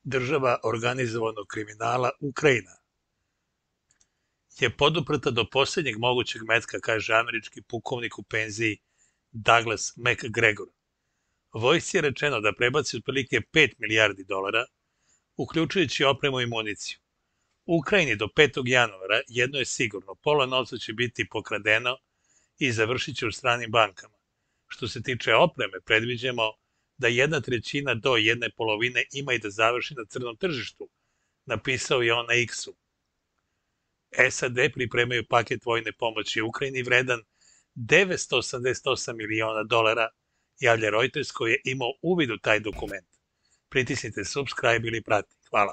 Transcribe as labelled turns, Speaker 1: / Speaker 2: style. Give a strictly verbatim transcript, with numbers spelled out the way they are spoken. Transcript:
Speaker 1: država organizovanog kriminala Ukrajina je poduprta do posljednjeg mogućeg metka, kaže američki pukovnik u penziji Douglas McGregor. Vojsci je rečeno da prebaci otprilike pet milijardi dolara, uključujući opremu i municiju. Ukrajini do petog januara jedno je sigurno, pola novca će biti pokradeno i završit će u stranim bankama. Što se tiče opreme, predviđamo da jedna trećina do jedne polovine ima i da završi na crnom tržištu, napisao je on na X-u. S A D pripremaju paket vojne pomoći Ukrajini vredan devetsto osamdeset osam miliona dolara, javlja Reuters koji je imao uvid u taj dokument. Pritisnite subscribe ili prati. Hvala.